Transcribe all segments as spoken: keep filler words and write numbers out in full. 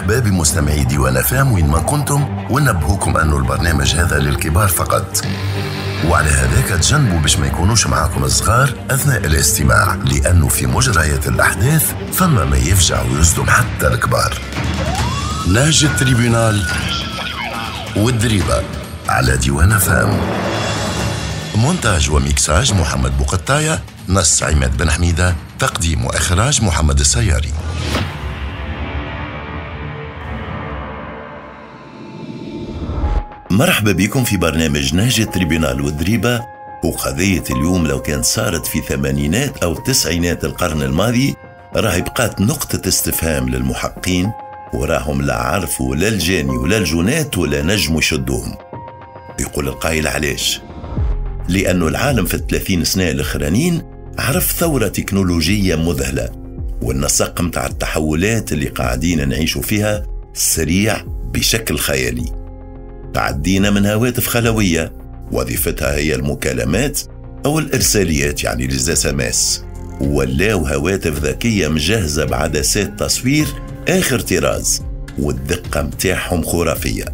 مرحبا بمستمعي ديوان أف أم وين ما كنتم، ونبهوكم أنه البرنامج هذا للكبار فقط، وعلى هذاك تجنبوا باش ما يكونوش معاكم الصغار أثناء الاستماع، لأنه في مجريات الأحداث فما ما يفجع ويصدم حتى الكبار. نهج ال tribunal والدريبة على ديوان أف أم. مونتاج وميكساج محمد بوقطاية، نص عماد بن حميدة، تقديم وإخراج محمد السياري. مرحبا بكم في برنامج نهج ال tribunal والدريبة. وقضية اليوم لو كان صارت في ثمانينات أو تسعينات القرن الماضي راهي بقات نقطة استفهام للمحقين، وراهم لا عرفوا لا الجاني ولا الجنات ولا نجموا يشدوهم. يقول القائل علاش؟ لأنه العالم في الثلاثين سنة الأخرانيين عرف ثورة تكنولوجية مذهلة، والنسق متاع التحولات اللي قاعدين نعيشوا فيها سريع بشكل خيالي. تعدينا من هواتف خلوية وظيفتها هي المكالمات أو الإرساليات يعني les SMS، ولاو هواتف ذكية مجهزة بعدسات تصوير آخر طراز والدقة متاعهم خرافية،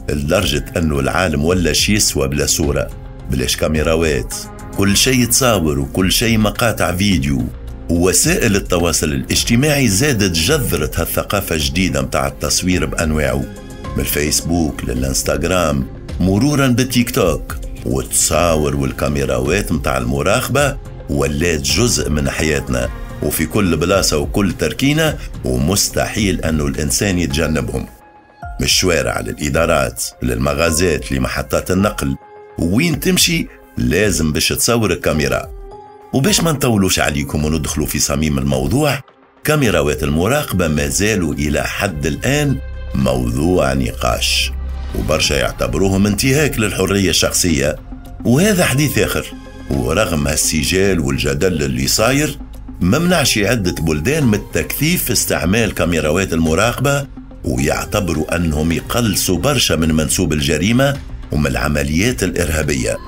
لدرجة أنه العالم ولا شي يسوى بلا صورة، بلاش كاميراوات، كل شيء تصاور وكل شيء مقاطع فيديو. ووسائل التواصل الاجتماعي زادت جذرت هالثقافة الجديدة متاع التصوير بأنواعه، من الفيسبوك للإنستغرام مرورا بالتيك توك، والتصاور والكاميراوات متاع المراقبة ولات جزء من حياتنا وفي كل بلاصة وكل تركينة، ومستحيل أنه الإنسان يتجنبهم. من الشوارع للإدارات للمغازات لمحطات النقل، وين تمشي لازم باش تصور الكاميرا. وباش ما نطولوش عليكم وندخلوا في صميم الموضوع، كاميراوات المراقبة ما زالوا إلى حد الآن موضوع نقاش، وبرشا يعتبروهم انتهاك للحرية الشخصية، وهذا حديث آخر. ورغم هالسجال والجدل اللي صاير، ممنعش عدة بلدان من التكثيف في استعمال كاميراوات المراقبة، ويعتبروا أنهم يقلصوا برشا من منسوب الجريمة ومن العمليات الإرهابية،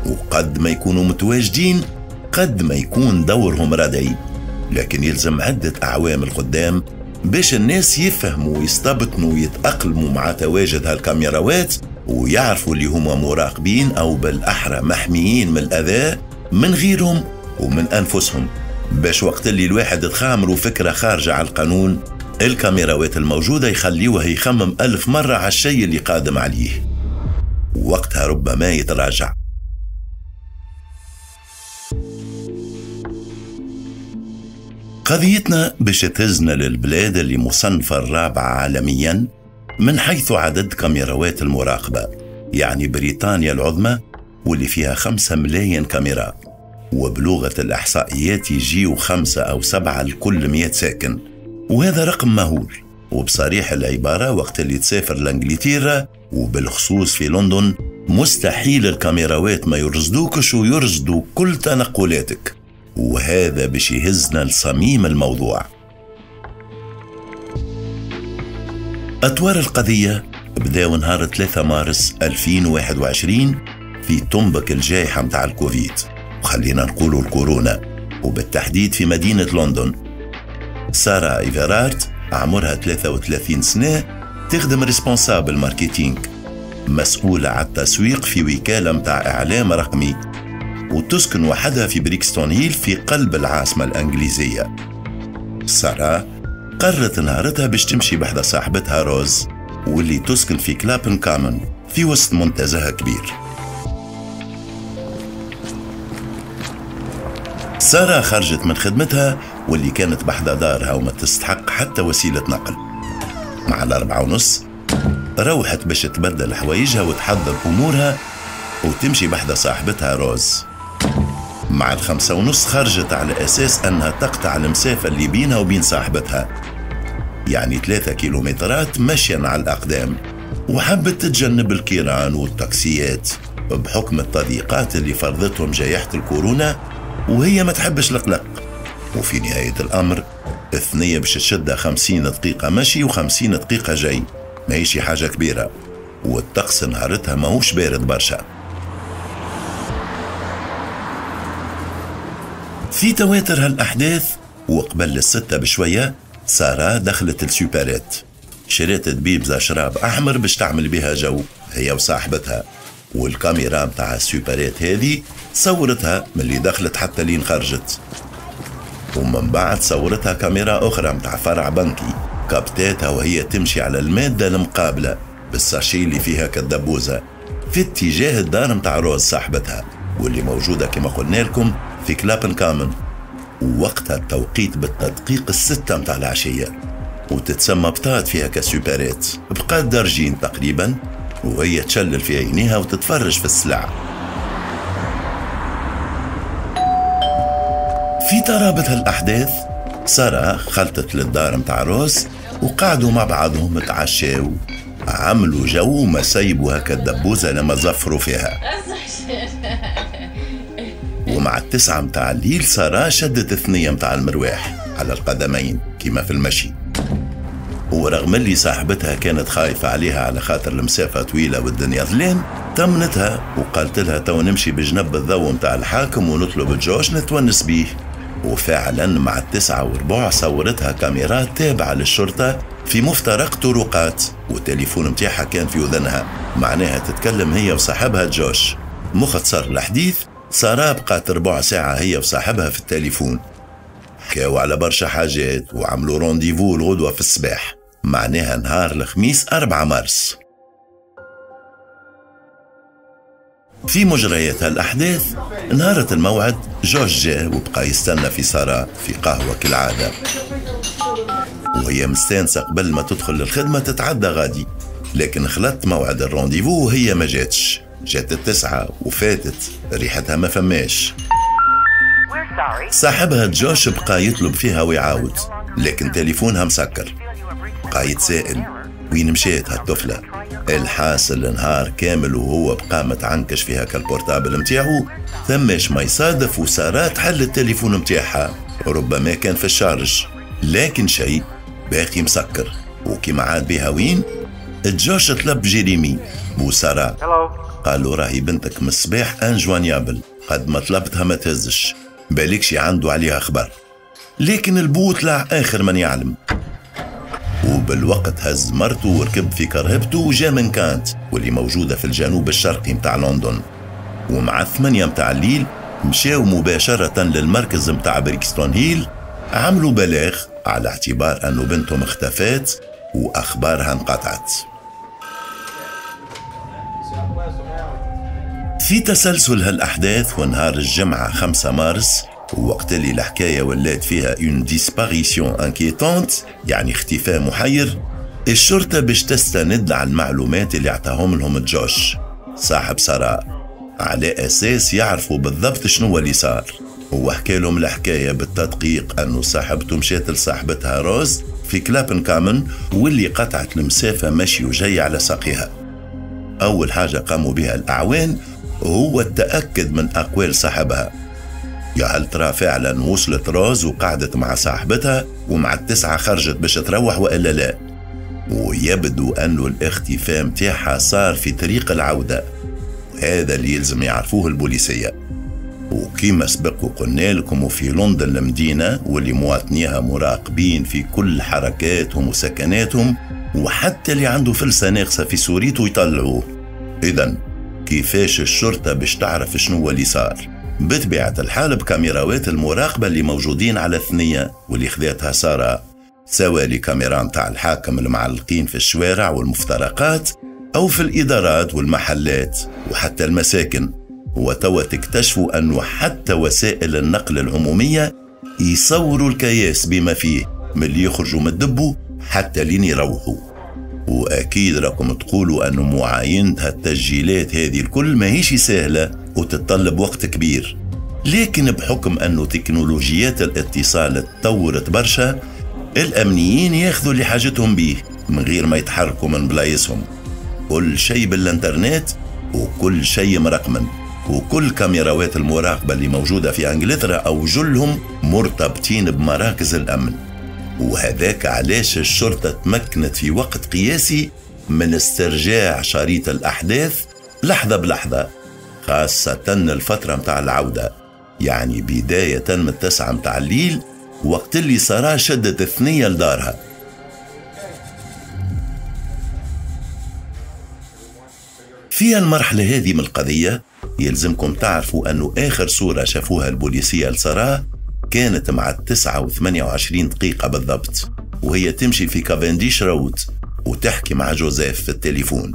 وقد ما يكونوا متواجدين قد ما يكون دورهم ردعي. لكن يلزم عدة أعوام القدام باش الناس يفهموا ويستبطنوا ويتأقلموا مع تواجد هالكاميراوات، ويعرفوا اللي هما مراقبين أو بالأحرى محميين من الأذى من غيرهم ومن أنفسهم، باش وقت اللي الواحد تخامروا فكرة خارجة على القانون الكاميراوات الموجودة يخليوه يخمم ألف مرة على الشيء اللي قادم عليه، ووقتها ربما يتراجع. قضيتنا باش تهزنا للبلاد اللي مصنفة الرابعة عالميا من حيث عدد كاميراوات المراقبة، يعني بريطانيا العظمى واللي فيها خمسة ملايين كاميرا، وبلغة الإحصائيات يجيو خمسة أو سبعة لكل مئة ساكن، وهذا رقم مهول. وبصريح العبارة وقت اللي تسافر لإنجلترا وبالخصوص في لندن مستحيل الكاميراوات ما يرصدوكش ويرصدوا كل تنقلاتك، وهذا باش يهزنا لصميم الموضوع. أطوار القضية بداو نهار ثلاثة مارس ألفين وواحد وعشرين في طنبك الجائحة متاع الكوفيد، وخلينا نقولوا الكورونا، وبالتحديد في مدينة لندن. سارة إيفرارت عمرها ثلاثة وثلاثين سنة، تخدم responsable marketing، مسؤولة على التسويق في وكالة متاع إعلام رقمي، وتسكن وحدها في بريكستون هيل في قلب العاصمة الإنجليزية. سارة قررت نهارتها باش تمشي بحذا صاحبتها روز، واللي تسكن في كلابن كامن في وسط منتزه كبير. سارة خرجت من خدمتها واللي كانت بحذا دارها وما تستحق حتى وسيلة نقل. مع الأربعة ونص روحت باش تبدل حوايجها وتحضر أمورها وتمشي بحذا صاحبتها روز. مع الخمسة ونص خرجت على أساس أنها تقطع المسافة اللي بينها وبين صاحبتها، يعني ثلاثة كيلومترات مشيا على الأقدام، وحبت تتجنب الكيران والتاكسيات بحكم التضييقات اللي فرضتهم جائحة الكورونا، وهي ما تحبش القلق. وفي نهاية الأمر الثنية باش تشدها خمسين دقيقة مشي وخمسين دقيقة جاي، ماهيش حاجة كبيرة، والطقس نهارتها ماهوش بارد برشا. في تواتر هالأحداث وقبل الستة بشوية سارة دخلت ال supérette، شريت دبيبزة شراب أحمر باش تعمل بها جو هي وصاحبتها، والكاميرا متاع ال supérette هذه صورتها من اللي دخلت حتى لين خرجت. ومن بعد صورتها كاميرا أخرى متاع فرع بنكي كابتاتها وهي تمشي على المادة المقابلة بال sachet اللي فيها كالدبوزة في اتجاه الدار متاع روز صاحبتها، واللي موجودة كما قلنا لكم في كلابن كامن، ووقتها التوقيت بالتدقيق الستة متاع العشية، وتتسمى بطات فيها ك supérette. بقات درجين تقريبا وهي تشلل في عينيها وتتفرج في السلع. في ترابط هالأحداث سارة خلطت للدار متاع روز وقعدوا مع بعضهم تعشاو، عملوا جو ما سيبوا هكا الدبوزة لما زفروا فيها. ومع التسعة متاع الليل سارة شدت الثنية متاع المرواح على القدمين كما في المشي، ورغم اللي صاحبتها كانت خايفة عليها على خاطر المسافة طويلة والدنيا ظلام، طمنتها وقالت لها تو نمشي بجنب الضوء متاع الحاكم ونطلب جوش نتونس بيه. وفعلا مع التسعة وربع صورتها كاميرات تابعة للشرطة في مفترق طرقات، والتليفون متاعها كان في وذنها، معناها تتكلم هي وصاحبها جوش. مختصر الحديث، سارة بقات ربع ساعة هي وصاحبها في التليفون، حكاوا على برشا حاجات وعملوا rendez-vous الغدوة في الصباح، معناها نهار الخميس أربعة مارس. في مجريات هالأحداث نهارة الموعد جوش جاء وبقى يستنى في سارة في قهوة كالعادة، وهي مستانسة قبل ما تدخل للخدمة تتعدى غادي، لكن خلطت موعد ال rendez-vous وهي ما جاتش. جات التسعة وفاتت، ريحتها ما فماش. صاحبها جوش بقى يطلب فيها ويعاود، لكن تليفونها مسكر. بقى يتسائل وين مشات هالطفلة. الحاصل نهار كامل وهو بقى متعنكش فيها كال portable متاعو، ثماش ما يصادف وسارة تحل التليفون متاعها، ربما كان في ال charge، لكن شيء باقي مسكر. وكما عاد بها وين جوش طلب جيريمي بو سارة، قالوا راهي بنتك من الصباح injoignable، قد ما طلبتها ما تهزش، بالكشي عنده عليها خبر. لكن البو طلع آخر من يعلم، وبالوقت هز مرته وركب في كرهبته وجا من كانت واللي موجودة في الجنوب الشرقي متاع لندن. ومع الثمانية متاع الليل مشاو مباشرة للمركز متاع بريكستون هيل، عملوا بلاغ على اعتبار أنه بنتهم اختفت وأخبارها انقطعت. في تسلسل هالأحداث ونهار الجمعة خمسة مارس، وقت اللي الحكاية ولات فيها une disparition inquiétante، يعني اختفاء محير، الشرطة باش تستند على المعلومات اللي اعطاهم لهم جوش صاحب سارة، على أساس يعرفوا بالضبط شنو اللي صار. هو حكى لهم الحكاية بالتدقيق أنه صاحبته مشات لصاحبتها روز في كلابن كامن، واللي قطعت المسافة مشي وجاي على ساقيها. أول حاجة قاموا بها الأعوان هو التأكد من أقوال صاحبها، يا هل ترى فعلا وصلت روز وقعدت مع صاحبتها ومع التسعة خرجت باش تروح وإلا لا. ويبدو أنه الاختفاء متاعها صار في طريق العودة، وهذا اللي يلزم يعرفوه البوليسية. وكما سبق وقلنا لكم، وفي لندن المدينة واللي مواطنيها مراقبين في كل حركاتهم وسكناتهم، وحتى اللي عنده فلسة ناقصة في سوريته يطلعوه. إذن كيفاش الشرطة باش تعرف شنو اللي صار؟ بطبيعة الحال بكاميراوات المراقبة اللي موجودين على الثنية واللي خذتها سارة، سواء لكاميرا متاع الحاكم المعلقين في الشوارع والمفترقات أو في الإدارات والمحلات وحتى المساكن. وتوا تكتشفوا أنه حتى وسائل النقل العمومية يصوروا الكياس بما فيه من اللي يخرجوا من الدبو حتى لين يروحوا. وأكيد راكم تقولوا أنه معاينة هالتسجيلات هذه الكل ماهيش سهلة وتتطلب وقت كبير، لكن بحكم أنه تكنولوجيات الاتصال تطورت برشا، الأمنيين ياخذوا اللي حاجتهم بيه من غير ما يتحركوا من بلايصهم. كل شيء بالانترنت وكل شيء مرقمن، وكل كاميراوات المراقبة اللي موجودة في أنجلترا أو جلهم مرتبطين بمراكز الأمن. وهذاك علاش الشرطة تمكنت في وقت قياسي من استرجاع شريط الأحداث لحظة بلحظة، خاصة الفترة متاع العودة، يعني بداية من التسعة متاع الليل وقت اللي سارة شدت الثنية لدارها. في المرحلة هذه من القضية يلزمكم تعرفوا أنه آخر صورة شافوها البوليسية لسارة كانت مع التسعة وثمانية وعشرين دقيقة بالضبط، وهي تمشي في كافنديش رود وتحكي مع جوزيف في التليفون،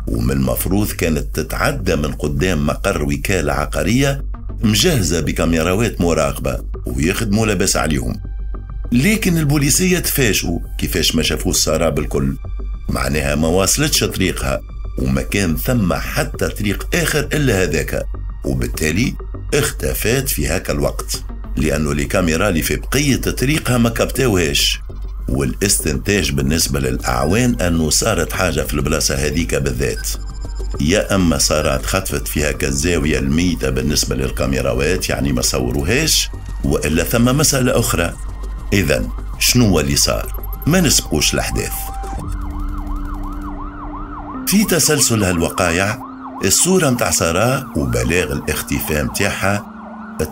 ومن المفروض كانت تتعدى من قدام مقر وكالة عقارية مجهزة بكاميراوات مراقبة ويخدموا لباس عليهم. لكن البوليسية تفاجئوا كيفاش ما شافوش سارة بالكل، معناها ما واصلتش طريقها وما كان ثم حتى طريق آخر إلا هذاك، وبالتالي اختفت في هكا الوقت لأنه الكاميرا اللي في بقية طريقها ما كبتاوهاش. والاستنتاج بالنسبة للأعوان أنه صارت حاجة في البلاصة هذيك بالذات، يا أما صارت خطفت فيها كالزاوية الميتة بالنسبة للكاميراوات يعني ما صوروهاش، وإلا ثم مسألة أخرى. إذن شنو اللي صار؟ ما نسبقوش الأحداث. في تسلسل هالوقايع الصورة متاع سارة وبلاغ الاختفاء متاعها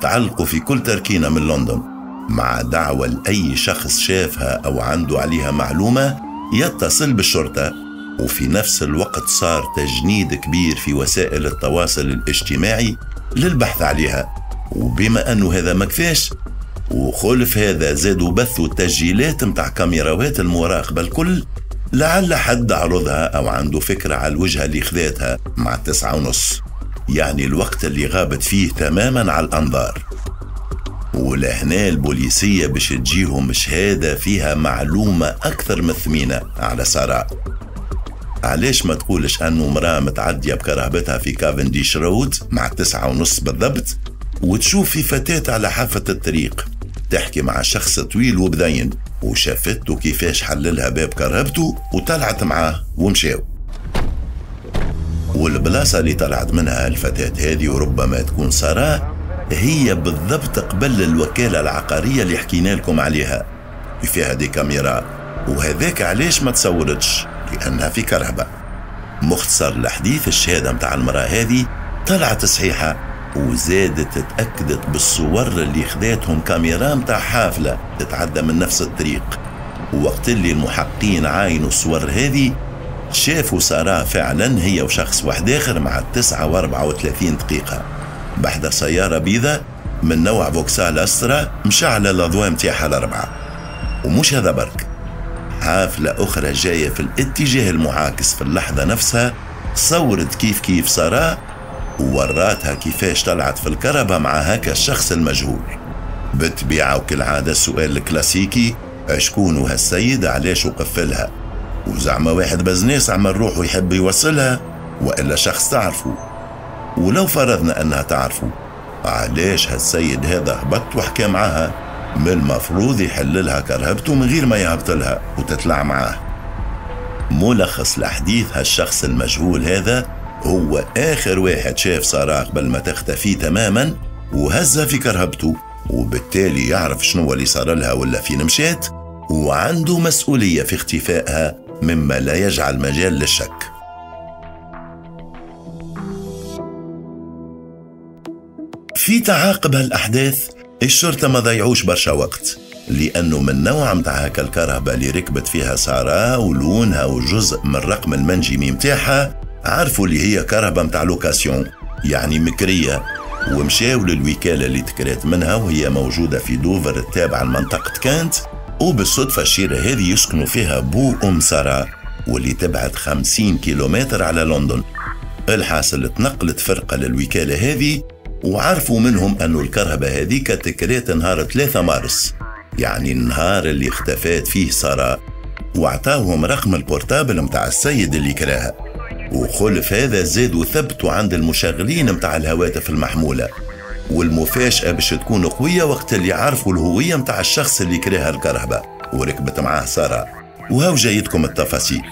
تعلقوا في كل تركينة من لندن، مع دعوة لأي شخص شافها أو عنده عليها معلومة يتصل بالشرطة. وفي نفس الوقت صار تجنيد كبير في وسائل التواصل الاجتماعي للبحث عليها، وبما أنه هذا ما كفاش وخلف هذا زادوا بثوا التسجيلات متاع كاميراوات المراقبة الكل، لعل حد عرضها أو عنده فكرة على الوجهة اللي خذاتها مع التسعة ونص، يعني الوقت اللي غابت فيه تماما على الأنظار. ولهنا البوليسية باش تجيهم شهادة فيها معلومة أكثر من ثمينة على سارة. علاش ما تقولش أنه امرأة متعدية بكرهبتها في كافنديش رود مع التسعة ونص بالضبط، وتشوف في فتاة على حافة الطريق تحكي مع شخص طويل وبذين، وشافته كيفاش حللها باب كرهبته وطلعت معاه ومشاو. والبلاصة اللي طلعت منها الفتاة هذه وربما تكون سارة هي بالضبط قبل الوكالة العقارية اللي حكينا لكم عليها فيها des caméras، وهذاك علاش ما تصورتش لأنها في كرهبة. مختصر الحديث الشهادة متاع المرأة هذه طلعت صحيحة، وزادت تأكدت بالصور اللي خذاتهم كاميرا متاع حافلة تتعدى من نفس الطريق. ووقت اللي المحقين عاينوا الصور هذه شافوا سارة فعلا هي وشخص واحد آخر مع التسعة وأربعة وثلاثين دقيقة بحدا سيارة بيضة من نوع فوكسال أسترا مشعلة الأضواء متاعها الأربعة. ومش هذا برك، حافلة أخرى جاية في الاتجاه المعاكس في اللحظة نفسها صورت كيف كيف سارة ووراتها كيفاش طلعت في الكربة مع هكا الشخص المجهول. بالطبيعة وكالعادة السؤال الكلاسيكي، شكون هالسيد علاش وقفلها؟ وزعما واحد بزناس عمل روحه يحب يوصلها وإلا شخص تعرفه؟ ولو فرضنا أنها تعرفه، علاش هالسيد هذا هبط وحكى معاها؟ من المفروض يحللها كرهبته من غير ما يهبطلها وتطلع معاه. ملخص الحديث، هالشخص المجهول هذا هو آخر واحد شاف سارة قبل ما تختفي تماما وهزها في كرهبته، وبالتالي يعرف شنو اللي صار لها ولا فين مشات، وعنده مسؤولية في اختفائها مما لا يجعل مجال للشك. في تعاقب هالأحداث الشرطة ما ضيعوش برشا وقت، لأنه من نوع متاع هكا الكرهبة اللي ركبت فيها سارة ولونها وجزء من الرقم المنجمي متاعها عرفوا اللي هي كرهبة متاع location يعني مكرية، ومشاو للوكالة اللي تكرات منها وهي موجودة في دوفر التابعة لمنطقة كانت. وبالصدفة الشيرة هذه يسكنوا فيها بو أم سارة واللي تبعد خمسين كيلومتر على لندن. الحاصل تنقلت فرقة للوكالة هذه وعرفوا منهم أنه الكرهبة هذيك تكرات نهار ثلاثة مارس، يعني النهار اللي اختفات فيه سارة، وعطاوهم رقم ال portable متاع السيد اللي كراها. وخلف هذا زادوا ثبتوا عند المشغلين متاع الهواتف المحمولة. والمفاجأة باش تكون قوية وقت اللي عرفوا الهوية متاع الشخص اللي كراها الكرهبة وركبت معاه سارة. وهاو جايتكم التفاصيل.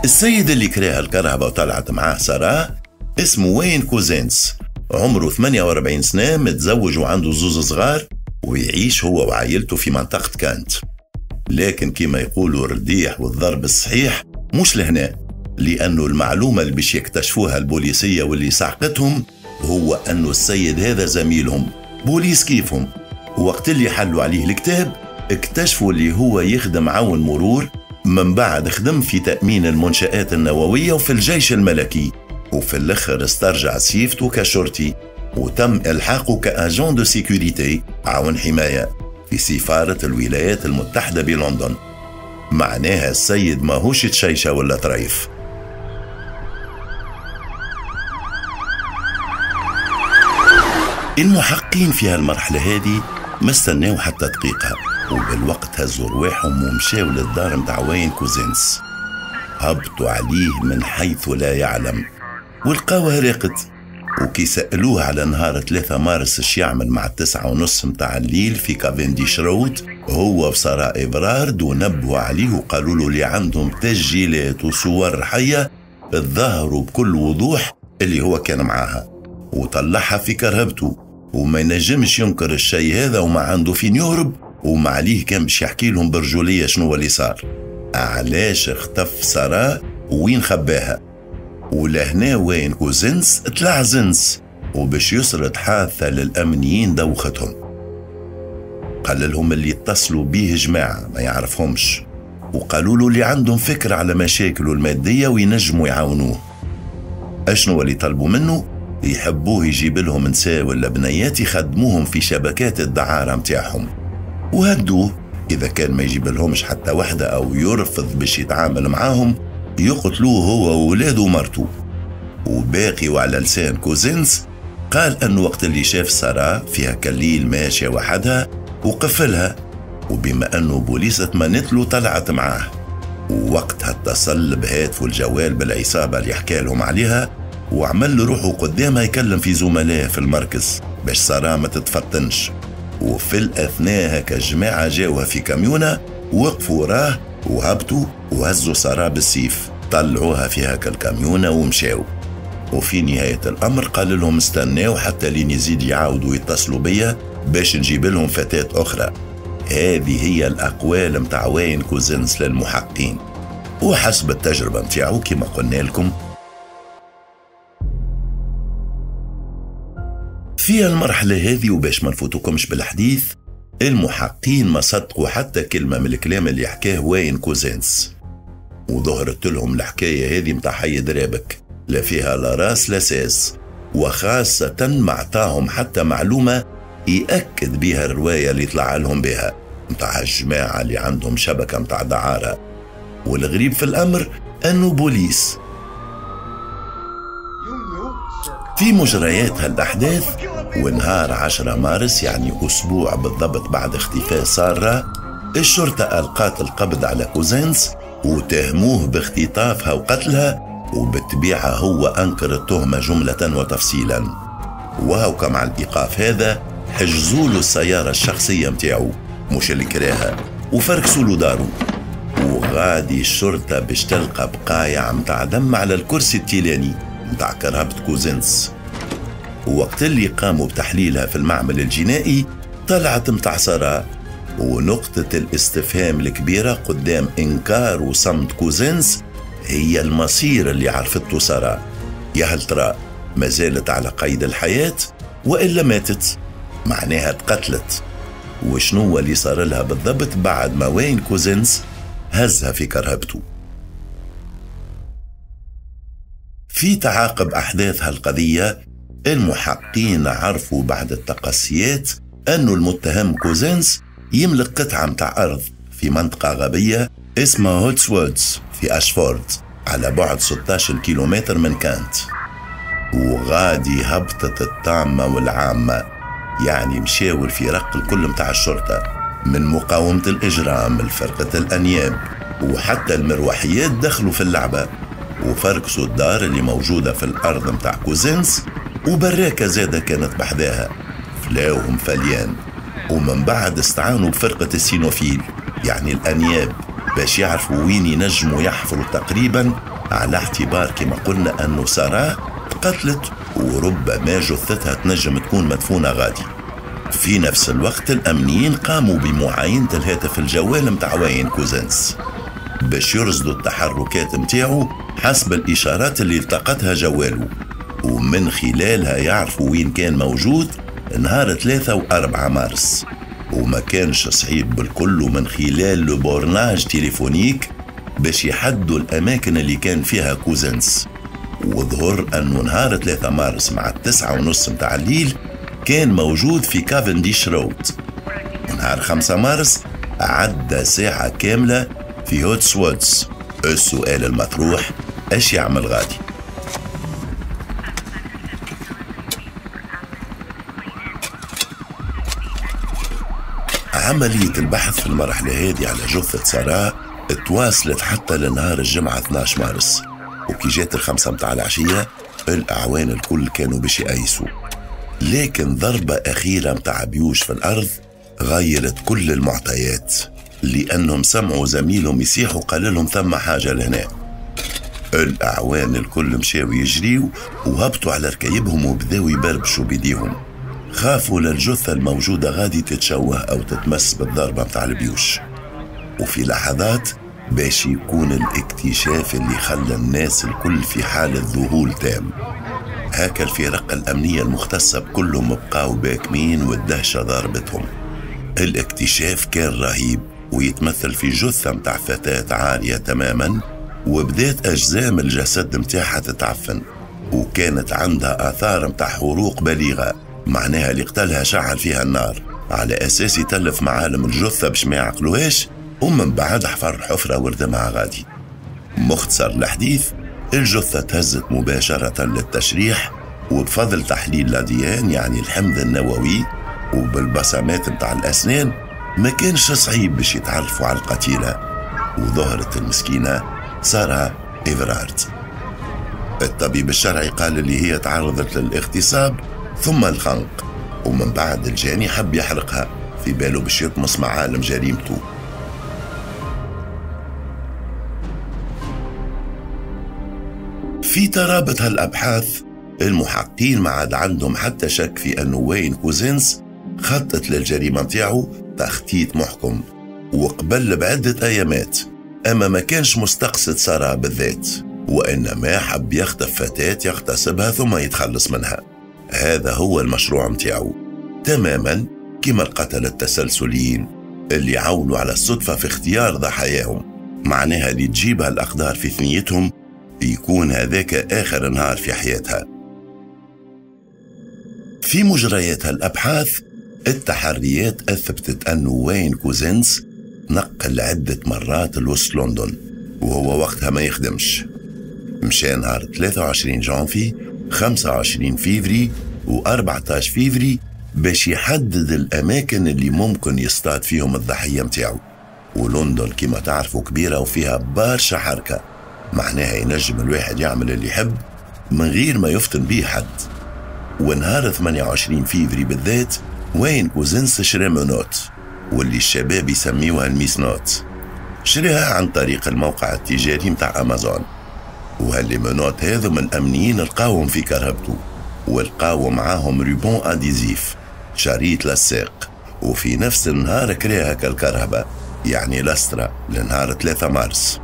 السيد اللي كراها الكرهبة وطلعت معاه سارة اسمه وين كوزينس، عمره ثمانية وأربعين سنة، متزوج وعنده زوز صغار، ويعيش هو وعائلته في منطقة كانت. لكن كما يقولوا الرديح والضرب الصحيح مش لهنا، لأنه المعلومة اللي باش يكتشفوها البوليسية واللي سعقتهم هو أنه السيد هذا زميلهم بوليس كيفهم. وقت اللي حلوا عليه الكتاب اكتشفوا اللي هو يخدم عون مرور من بعد خدم في تأمين المنشآت النووية وفي الجيش الملكي، وفي الآخر استرجع صيفته كشرطي وتم إلحاقه ك agent de sécurité عون حماية في سفارة الولايات المتحدة بلندن. معناها السيد ماهوش تشيشة ولا طريف. المحقين في هالمرحلة هذه ما استناو حتى دقيقة، وبالوقت هزوا رواحهم ومشاو للدار متاع واين كوزينس. هبطوا عليه من حيث لا يعلم ولقاوه راقد. وكي سألوه على نهار ثلاثة مارس اش يعمل مع التسعة ونص متاع الليل في كافنديش رود هو وسارة إبرارد، ونبهوا عليه وقالوا له اللي عندهم تسجيلات وصور حية تظهروا بكل وضوح اللي هو كان معاها وطلعها في كرهبته، وما ينجمش ينكر الشيء هذا وما عنده فين يهرب، وما عليه كان باش يحكي لهم برجولية شنو اللي صار، علاش اختف سارة وين خباها. ولهنا وين كوزنس طلع زنس وباش يسرد حادثة للأمنيين دوختهم. قال لهم اللي اتصلوا بيه جماعة ما يعرفهمش، وقالوا له اللي عندهم فكرة على مشاكله المادية وينجموا يعاونوه. أشنو اللي طلبوا منه؟ يحبوه يجيب لهم نساء ولا بنيات يخدموهم في شبكات الدعارة متاعهم، وهدوه إذا كان ما يجيب لهمش حتى وحدة أو يرفض باش يتعامل معاهم يقتلوه هو وولاده ومرته. وباقي وعلى لسان كوزنس قال أنه وقت اللي شاف سارة فيها كالليل ماشية وحدها وقفلها، وبما أنه بوليس اتمنت له طلعت معاه. ووقتها اتصل بهاتفه الجوال بالعصابة اللي حكى لهم عليها، وعمل روحه قدامها يكلم في زملائه في المركز باش سارة ما تتفطنش. وفي الأثناء هكا الجماعة جاوها في كاميونة وقفوا وراه وهبطوا وهزوا سارة بالسيف، طلعوها في هكا الكاميونة ومشاو. وفي نهاية الأمر قال لهم استناو حتى لين يزيد يعاودوا يتصلوا بيا باش نجيب لهم فتاة أخرى. هذه هي الأقوال متاع واين كوزنس للمحقين، وحسب التجربة متاعو كما قلنا لكم. في المرحلة هذه وباش ما نفوتكمش بالحديث، المحقين ما صدقوا حتى كلمة من الكلام اللي حكاه واين كوزنس، وظهرت لهم الحكاية هذه متاع حي درابك لا فيها لا راس لا ساس، وخاصة ما عطاهم حتى معلومة يأكد بها الرواية اللي طلع لهم بها متاع الجماعة اللي عندهم شبكة متاع دعارة. والغريب في الأمر أنه بوليس في مجريات هالأحداث. ونهار عشرة مارس، يعني أسبوع بالضبط بعد اختفاء سارة، الشرطة ألقت القبض على كوزنس وتهموه باختطافها وقتلها، وبالطبيعة هو أنكر التهمة جملة وتفصيلا. وهو مع الإيقاف هذا حجزوا له السيارة الشخصية متاعو مش اللي كراها، وفركسوا له دارو. وغادي الشرطة باش تلقى بقايع متاع دم على الكرسي التيلاني متاع كرهبة كوزنس. ووقت اللي قاموا بتحليلها في المعمل الجنائي طلعت متاع سارة. ونقطة الاستفهام الكبيرة قدام إنكار وصمت كوزنس هي المصير اللي عرفته سارة. يا هل ترى ما زالت على قيد الحياة وإلا ماتت؟ معناها تقتلت. وشنو اللي صار لها بالضبط بعد ما واين كوزنس هزها في كرهبته؟ في تعاقب أحداث هالقضية المحقين عرفوا بعد التقصيات أنه المتهم كوزنس يملك قطعة متاع أرض في منطقة غابية اسمها هوتسوودز في أشفورد على بعد ستة عشر كيلومتر من كانت. وغادي هبطت الطامة والعامة، يعني مشاو الفرق الكل متاع الشرطة من مقاومة الإجرام لفرقة الأنياب وحتى المروحيات دخلوا في اللعبة وفركسوا الدار اللي موجودة في الأرض متاع كوزنس، وبراكة زادة كانت بحذاها فلاوهم فليان. ومن بعد استعانوا بفرقة ال cynophiles يعني الأنياب باش يعرفوا وين ينجموا يحفروا تقريبا، على اعتبار كما قلنا أنه سارة تقتلت وربما جثتها تنجم تكون مدفونة غادي. في نفس الوقت الأمنيين قاموا بمعاينة الهاتف الجوال متاع واين كوزنس باش يرصدوا التحركات متاعو حسب الإشارات اللي التقطها جواله، ومن خلالها يعرفوا وين كان موجود نهار ثلاثة وأربعة مارس. وما كانش صعيب بالكل، ومن خلال le bornage téléphonique باش يحدوا الأماكن اللي كان فيها كوزنس، وظهر أنه نهار ثلاثة مارس مع التسعة ونص متاع الليل كان موجود في كافنديش رود، ونهار خمسة مارس عدى ساعة كاملة في هوتسوودز. السؤال المطروح، ايش يعمل غادي؟ عملية البحث في المرحلة هذه على جثة سارة تواصلت حتى لنهار الجمعة اثناش مارس، وكي جات الخمسة متاع العشية الأعوان الكل كانوا باش يأيسوا، لكن ضربة أخيرة متاع بيوش في الأرض غيرت كل المعطيات، لأنهم سمعوا زميلهم يصيحوا قال لهم ثم حاجة لهنا. الأعوان الكل مشاو يجريوا وهبطوا على ركايبهم وبداو يبربشوا بيديهم، خافوا للجثة الموجودة غادي تتشوه أو تتمس بالضربة متاع البيوش. وفي لحظات باش يكون الاكتشاف اللي خلى الناس الكل في حالة ذهول تام. هاكا الفرق الأمنية المختصة بكلهم بقاو باكمين والدهشة ضربتهم. الاكتشاف كان رهيب ويتمثل في جثة متاع فتاة عارية تماما، وبدات أجزام الجسد متاعها تتعفن، وكانت عندها آثار متاع حروق بليغة، معناها اللي قتلها شعل فيها النار على أساس يتلف معالم الجثة باش ما يعقلوهاش، ومن بعد حفر حفرة وردمها غادي. مختصر الحديث، الجثة تهزت مباشرة للتشريح، وبفضل تحليل l'ADN يعني الحمض النووي وبالبصمات متاع الأسنان ما كانش صعيب باش يتعرفوا على القتيلة، وظهرت المسكينة سارة إيفرارد. الطبيب الشرعي قال اللي هي تعرضت للاغتصاب ثم الخنق، ومن بعد الجاني حب يحرقها في باله باش يطمس معالم جريمته. في ترابط هالأبحاث المحققين ما عاد عندهم حتى شك في أنه وين كوزينس خطط للجريمة متاعه تخطيط محكم وقبل بعدة أيامات، أما ما كانش مستقصد سارة بالذات، وإنما حب يخطف فتاة يغتصبها ثم يتخلص منها. هذا هو المشروع متاعه تماما كما القتلة التسلسليين اللي عولوا على الصدفة في اختيار ضحاياهم، معناها اللي تجيبها الأقدار في ثنيتهم يكون هذاك آخر نهار في حياتها. في مجريات هالأبحاث التحريات أثبتت أنه وين كوزينس نقل عدة مرات لوسط لندن وهو وقتها ما يخدمش. مشى نهار ثلاثة وعشرين جانفي، خمسة وعشرين فيفري وأربعة عشر فيفري باش يحدد الأماكن اللي ممكن يصطاد فيهم الضحية متاعه. ولندن كما تعرفوا كبيرة وفيها برشا حركة، معناها ينجم الواحد يعمل اللي يحب من غير ما يفتن بيه حد. ونهار ثمانية وعشرين فيفري بالذات وين كوزنس شرا menottes واللي الشباب يسميوها ال menottes، شريها عن طريق الموقع التجاري متاع أمازون. وهال les menottes هذو من الأمنيين لقاوهم في كرهبته، ولقاو معاهم ruban adhésif شريط للساق، وفي نفس النهار كريها كالكرهبة يعني لاسترا لنهار ثلاثة مارس.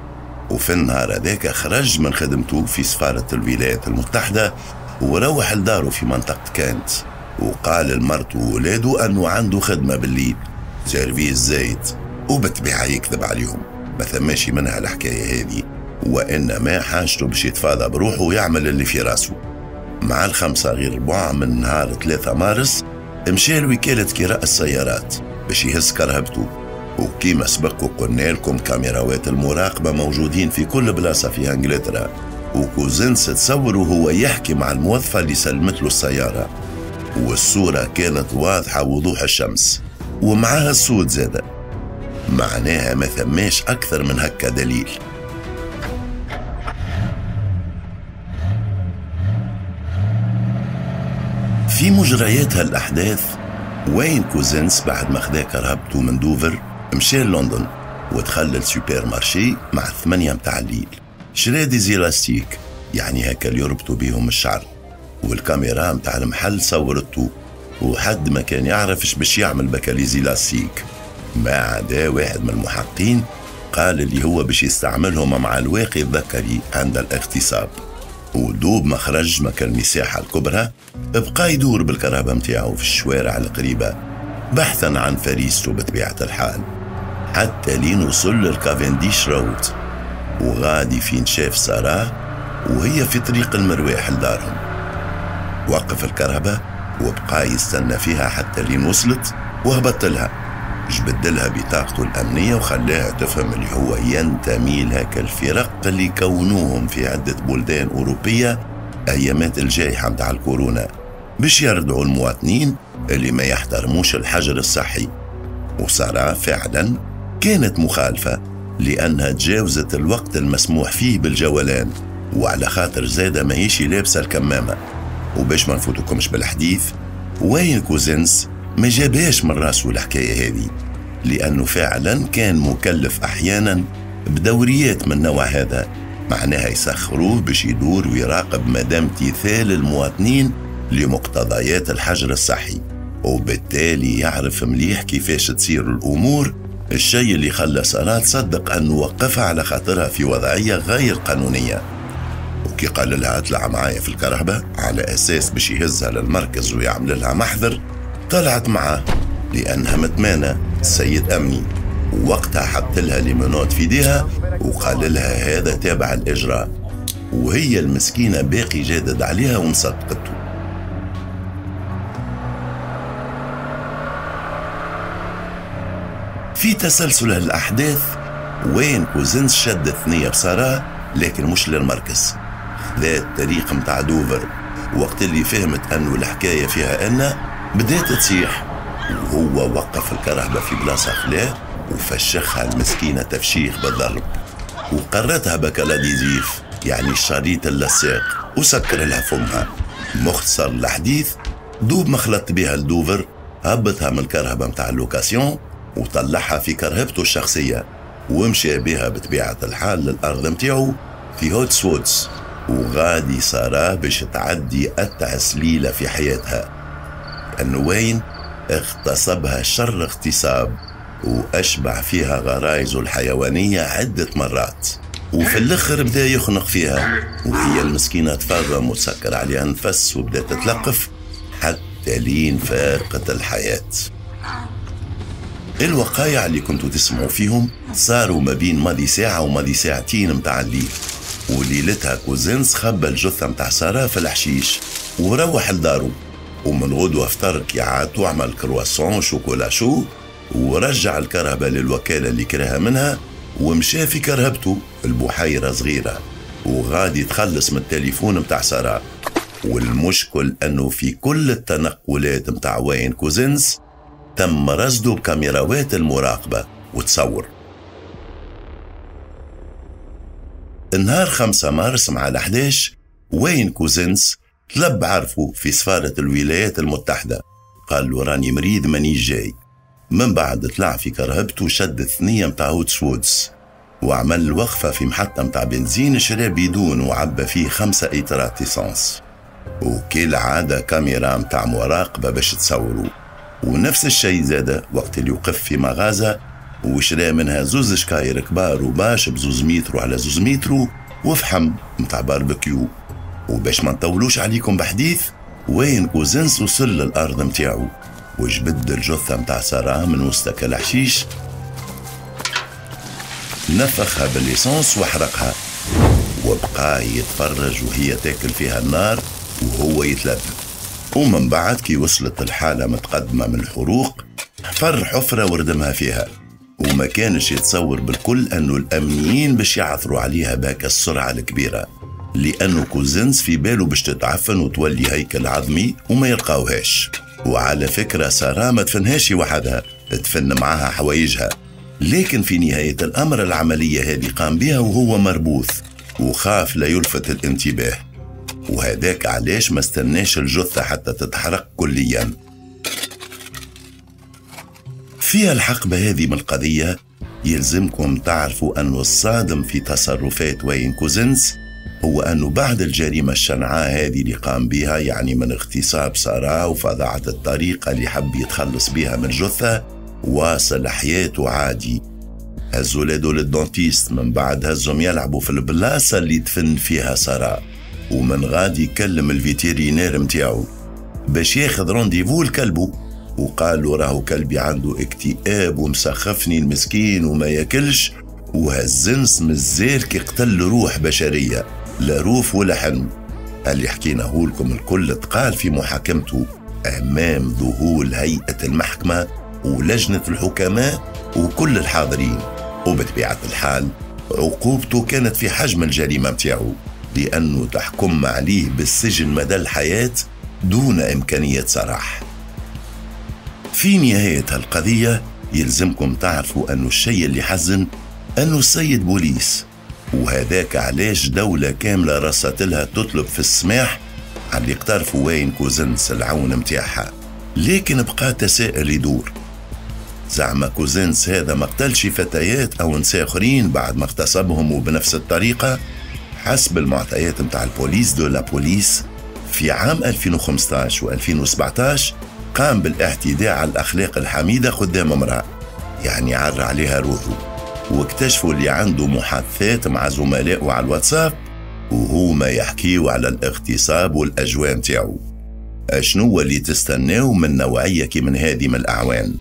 وفي النهار هذاك خرج من خدمته في سفارة الولايات المتحدة وروح لداره في منطقة كانت، وقال لمرته وولاده أنه عنده خدمة بالليل service زايد، وبالطبيعة يكذب عليهم ما ثماشي منها الحكاية هذه، وإنما حاجته باش يتفاضى بروحه ويعمل اللي في راسه. مع الخمسة غير ربع من نهار ثلاثة مارس مشى لوكالة كراء السيارات باش يهز كرهبته، وكيما سبق وقلنا لكم كاميراوات المراقبة موجودين في كل بلاصة في انجلترا، وكوزنس تصور وهو يحكي مع الموظفة اللي سلمت له السيارة، والصورة كانت واضحة وضوح الشمس ومعها الصوت زادة، معناها ما ثماش أكثر من هكا دليل. في مجريات هالأحداث وين كوزنس بعد ما خدا كرهبته من دوفر مشى لندن ودخل لل supermarché مع الثمانية متاع الليل، شرا des élastiques يعني هكا اللي يربطوا بيهم الشعر، والكاميرا متاع المحل صورته، وحد ما كان يعرف باش يعمل بكا les élastiques، ما عدا واحد من المحقين قال اللي هو باش يستعملهم مع الواقي الذكري عند الاغتصاب. ودوب ما خرج مكان المساحة الكبرى بقى يدور بالكرهبة متاعه في الشوارع القريبة بحثا عن فريسته بطبيعة الحال، حتى لين وصل للكافنديش رود. وغادي فين شاف سارة وهي في طريق المرواح لدارهم. وقف الكرهبة وبقى يستنى فيها حتى لين وصلت وهبط لها، جبد لها بطاقته الأمنية وخلاها تفهم اللي هو ينتمي لهاك الفرق اللي كونوهم في عدة بلدان أوروبية أيامات الجائحة متاع الكورونا باش يردعوا المواطنين اللي ما يحترموش الحجر الصحي. وسارة فعلا كانت مخالفة لأنها تجاوزت الوقت المسموح فيه بالجولان، وعلى خاطر زادة ماهيش لابسة الكمامة. وباش ما نفوتكمش بالحديث، وين كوزنس ما جابهاش من راسه الحكاية هذه، لأنه فعلا كان مكلف أحيانا بدوريات من النوع هذا، معناها يسخروه باش يدور ويراقب مدى امتثال المواطنين لمقتضيات الحجر الصحي، وبالتالي يعرف مليح كيفاش تصير الأمور. الشيء اللي خلى سارة تصدق أنه وقفها على خاطرها في وضعية غير قانونية. وكي قال لها اطلع معايا في الكرهبة على أساس باش يهزها للمركز ويعمل لها محضر، طلعت معاه لأنها متمانة سيد أمني. ووقتها حط لها les menottes في ايديها وقال لها هذا تابع الإجراء، وهي المسكينة باقي جادد عليها ومصدقته. في تسلسل الأحداث وين كوزنس شد ثنية بسارة، لكن مش للمركز، خذا الطريق متاع دوفر. وقت اللي فهمت أنه الحكاية فيها أن بدأت تصيح، وهو وقف الكرهبة في بلاصة خلاه وفشخها المسكينة تفشيخ بالضرب، وقرتها بك l'adhésif يعني الشريط اللصاق، وسكر لها فمها. مختصر الحديث، دوب ما خلطت بها لدوفر هبطها من الكرهبة متاع ال location وطلعها في كرهبته الشخصية، ومشى بها بطبيعة الحال للأرض متاعو في هوتسوتس. وغادي سارة باش تعدي أتعس ليلة في حياتها، لأنه وين اغتصبها شر اغتصاب وأشبع فيها غرايزه الحيوانية عدة مرات، وفي الآخر بدأ يخنق فيها، وهي المسكينة تفرم وتسكر عليها نفس وبدأت تتلقف حتى لين فارقت الحياة. الوقايع اللي كنتوا تسمعوا فيهم صاروا ما بين ماضي ساعة وماضي ساعتين متاع الليل، وليلتها كوزنس خبى الجثة متاع سارة في الحشيش وروح لدارو، ومن غدوة فطر كي وعمل croissant chocolat chaud، ورجع الكرهبة للوكالة اللي كرهها منها ومشى في كرهبته البحيرة صغيرة، وغادي تخلص من التليفون متاع سارة. والمشكل أنه في كل التنقلات متاع وين كوزنس تم رصده بكاميراوات المراقبة وتصور. النهار خمسة مارس مع الأحداش وين كوزنس طلب عرفه في سفارة الولايات المتحدة، قال له راني مريض ماني جاي. من بعد طلع في كرهبته وشد الثنية متاع هوتسوودز وعمل وقفة في محطة متاع بنزين، شرى بيدون وعبى فيه خمسة إيترات essence، وكالعادة كاميرا متاع مراقبة باش تصوروا. ونفس الشيء زاد وقت اللي وقف في مغازة وشرى منها زوز شكاير كبار و bâche بزوز مترو على زوز مترو وفحم متاع باربكيو. وباش ما نطولوش عليكم بحديث، وين كوزنس وصل للأرض متاعو وجبد الجثة متاع سارة من وسط الحشيش، نفخها بال essence وحرقها، وبقى يتفرج وهي تاكل فيها النار وهو يتلذذ. ومن بعد كي وصلت الحالة متقدمة من الحروق حفر حفرة وردمها فيها، وما كانش يتصور بالكل أنه الأمنيين باش يعثروا عليها بهاك السرعة الكبيرة، لأنه كوزنس في باله باش تتعفن وتولي هيكل عظمي وما يلقاوهاش. وعلى فكرة سارة ما تفنهاش وحدها، تفن معاها حوايجها، لكن في نهاية الأمر العملية هذه قام بها وهو مربوث وخاف لا يلفت الانتباه، وهذاك علاش ما استناش الجثة حتى تتحرق كليا. في الحقبة هذه من القضية يلزمكم تعرفوا أنه الصادم في تصرفات وين كوزنس هو أنه بعد الجريمة الشنعاء هذه اللي قام بها، يعني من اغتصاب سارة وفظاعة الطريقة اللي حب يتخلص بها من الجثة، واصل حياته عادي. هزوا ولاده لل dentiste، من بعد هزهم يلعبوا في البلاصة اللي دفن فيها سارة، ومن غادي يكلم ال vétérinaire متاعو باش ياخذ rendez-vous لكلبه، وقال له راهو كلبي عنده اكتئاب ومسخفني المسكين وما ياكلش، وهالزنس مازال كي قتل روح بشرية، لا روف ولا حن. اللي حكيناه لكم الكل تقال في محاكمته أمام ذهول هيئة المحكمة ولجنة الحكماء وكل الحاضرين. وبطبيعة الحال عقوبته كانت في حجم الجريمة متاعه، لأنه تحكم عليه بالسجن مدى الحياة دون إمكانية سراح. في نهاية القضية يلزمكم تعرفوا أنه الشيء اللي حزن أنه السيد بوليس، وهذاك علاش دولة كاملة رصت لها تطلب في السماح على اللي اقترفوا وين كوزنس العون متاعها. لكن بقى تساؤل يدور، زعما كوزنس هذا ما قتلش فتيات أو نساء آخرين بعد ما اغتصبهم وبنفس الطريقة؟ حسب المعطيات متاع البوليس de la police، في عام ألفين وخمسطاش و ألفين وسبعطاش قام بالاعتداء على الأخلاق الحميدة قدام امرأة، يعني عر عليها روحه، واكتشفوا اللي عنده محادثات مع زملائه على الواتساب وهما يحكيوا على الاغتصاب والأجواء متاعو. أشنو اللي تستناو من نوعية كي من هذه من الأعوان؟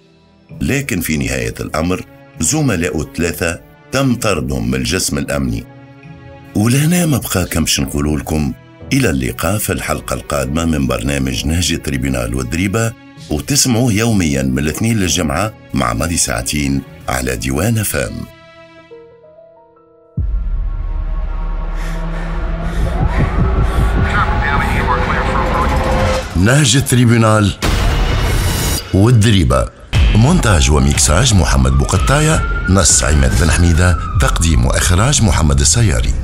لكن في نهاية الأمر زملائه الثلاثة تم طردهم من الجسم الأمني. ولهنا ما بقى كمش نقولوا لكم إلى اللقاء في الحلقة القادمة من برنامج نهج tribunal والدريبة، وتسمعوه يوميا من الاثنين للجمعة مع ماضي ساعتين على ديوان فام. نهج tribunal والدريبة، مونتاج وميكساج محمد بوقطاية، نص عماد بن حميدة، تقديم وإخراج محمد السياري.